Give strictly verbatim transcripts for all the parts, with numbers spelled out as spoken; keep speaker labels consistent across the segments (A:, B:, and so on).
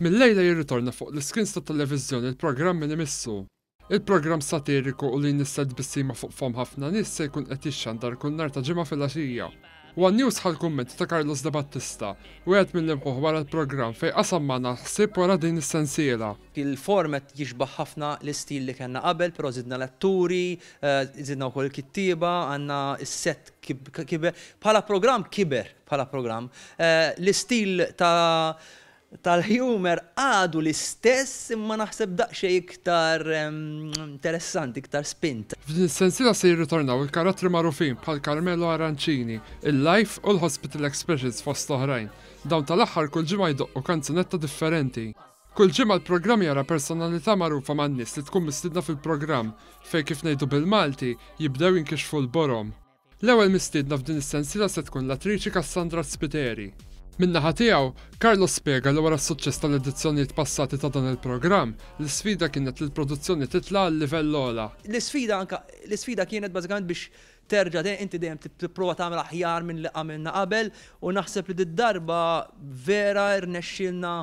A: Mill-lejla jirritorna fuq l-iskrins tat-televiżjoni il-programm Min Imissu. Il-programm satiriku u li jnissel tbissima fuq fomm ħafna nies se jkun qed jixxandar kull nhar ta' Ġimgħa filgħaxija. One News ħa l-kummenti ta' Carlos De Battista, wieħed mill-imħuħ wara l-programm, fejn qasam magħna l-ħsieb wara din is-sensiela.
B: Il-format jixbaħ ħafna l-istil li kellna qabel, però zidna l-atturi, zidna wkoll il-kittieba, għandna s-set kiber. Bħala programm kiber, bħala programm. L-istil ta' tal-humor għadu l-istess, imma naħseb daqsxejn iktar interessanti, iktar spint.
A: F'din is-sensiela se jirritornaw il-karattri magħrufin bħal Carmelo Arancini, il-Life u l-Hospital Expressions, fost oħrajn. Dawn tal-aħħar kull ġimgħa jdoqqu kanzunetta differenti. Kull ġimgħa l-programm jara personalità magħrufa man-nies li tkun mistiedna fil-programm, fejn, kif ngħidu bil-Malti, jibdew jinkixfu l-borom. L-ewwel mistiedna f'din is-sensiela se tkun l-attriċi Cassandra Spiteri. Min-naħa tiegħu, Carlos spjega li wara s-suċċess tal-edizzjonijiet passati ta' dan il-programm, l-isfida kienet li l-produzzjoni titla' għal livell ogħla.
B: L-isfida anka l-isfida kienet bażikament biex terġa' inti dejjem tipprova tagħmel aħjar minn li għamilna qabel, u naħseb li d-darba vera rnexxielna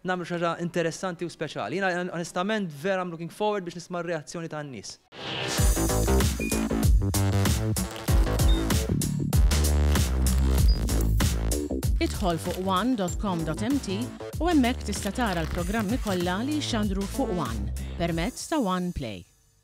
B: nagħmlu xi ħaġa interessanti u speċjali. Jiena onestament vera I'm looking forward biex nisma' r-reazzjoni tan-nies.
C: Idħol fuq one dot com dot M T u hemmhekk tista' tara l-programmi kollha li jxandru fuq One permezz ta' One Play.